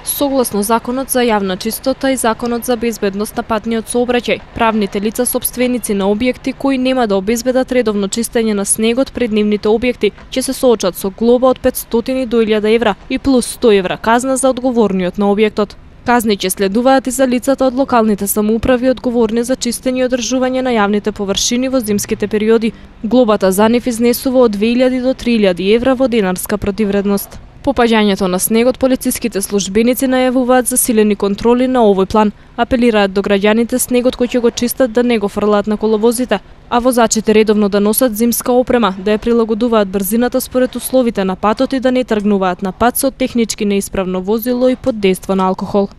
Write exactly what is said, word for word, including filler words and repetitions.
Согласно Законот за јавна чистота и Законот за безбедност на патниот сообраќај, правните лица сопственици на објекти кои нема да обезбедат редовно чистење на снегот пред нивните објекти ќе се соочат со глоба од петстотини до илјада евра и плюс сто евра казна за одговорниот на објектот. Казни ќе следуваат и за лицата од локалните самоуправи одговорни за чистење и одржување на јавните површини во зимските периоди. Глобата за нив изнесува од две илјади до три илјади евра во денарска противредност. По паѓањето на снегот, полициските службеници најавуваат засилени контроли на овој план. Апелираат до граѓаните снегот кој ќе го чистат да не го фрлаат на коловозите, а возачите редовно да носат зимска опрема, да ја прилагодуваат брзината според условите на патот и да не тргнуваат на пат со технички неисправно возило и под дејство на алкохол.